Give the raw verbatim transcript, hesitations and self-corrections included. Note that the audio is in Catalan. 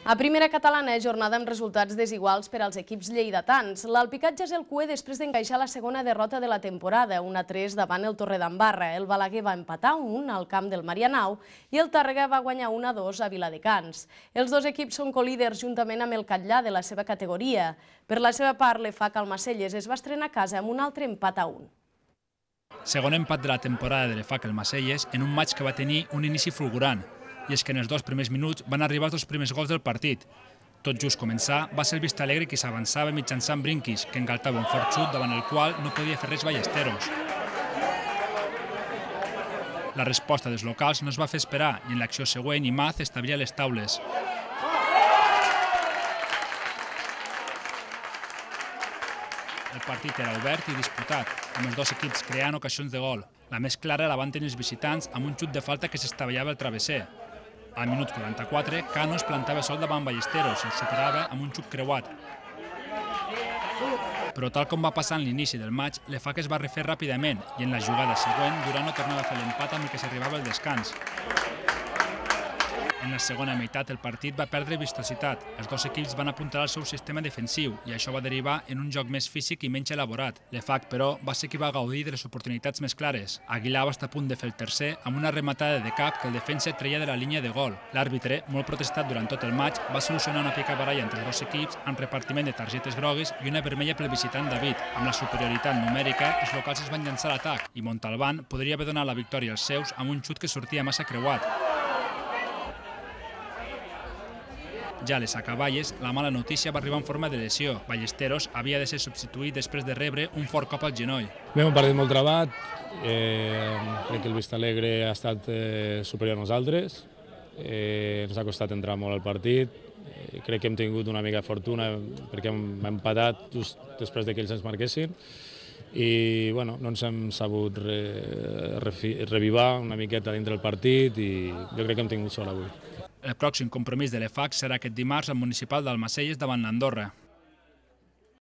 A primera catalana, jornada amb resultats desiguals per als equips lleidatans. L'Alpicat ja és el cué després d'encaixar la segona derrota de la temporada, un a tres davant el Torredembarra. El Balaguer va empatar un al camp del Marianao i el Tàrrega va guanyar un a dos a Viladecans. Els dos equips són colíders juntament amb el Catllà de la seva categoria. Per la seva part, l'E F A C Almacelles es va estrenar a casa amb un altre empat a un. Segon empat de la temporada de l'E F A C Almacelles en un maig que va tenir un inici fulgurant. I és que en els dos primers minuts van arribar els dos primers gols del partit. Tot just començar, va ser el Vistalegre qui s'avançava mitjançant Brinquis, que engaltava un fort xut davant el qual no podia fer res Ballesteros. La resposta dels locals no es va fer esperar i en l'acció següent Imaz establia les taules. El partit era obert i disputat, amb els dos equips creant ocasions de gol. La més clara la van tenir els visitants amb un xut de falta que s'estavellava al travesser. Al minut quaranta-quatre, Cano es plantava sol davant Ballesteros i el superava amb un xut creuat. Però tal com va passar en l'inici del maig, l'E F A C es va refer ràpidament i en la jugada següent Durano tornava a fer l'empat amb el que s'arribava al descans. En la segona meitat el partit va perdre vistositat. Els dos equips van apuntar al seu sistema defensiu i això va derivar en un joc més físic i menys elaborat. L'E F A C, però, va ser qui va gaudir de les oportunitats més clares. Aguilar va estar a punt de fer el tercer amb una rematada de cap que el defensa treia de la línia de gol. L'àrbitre, molt protestat durant tot el maig, va solucionar una picabaralla entre els dos equips amb repartiment de targetes grogues i una vermella pel visitant David. Amb la superioritat numèrica, els locals es van llançar a l'atac i Montalbán podria haver donat la victòria als seus amb un xut que sortia massa creuat. Ja a les acaballes, la mala notícia va arribar en forma de lesió. Ballesteros havia de ser substituït després de rebre un fort cop al genoll. Bé, un partit molt trebat. Eh, crec que el Vistalegre ha estat eh, superior a nosaltres. Eh, ens ha costat entrar molt al partit. Eh, crec que hem tingut una mica de fortuna perquè hem empatat just després de que ells ens marquessin. I bueno, no ens hem sabut re, re, revivar una miqueta dintre del partit i jo crec que hem tingut sort avui. El pròxim compromís de l'E F A C serà aquest dimarts al municipal d'Almacelles davant l'Andorra.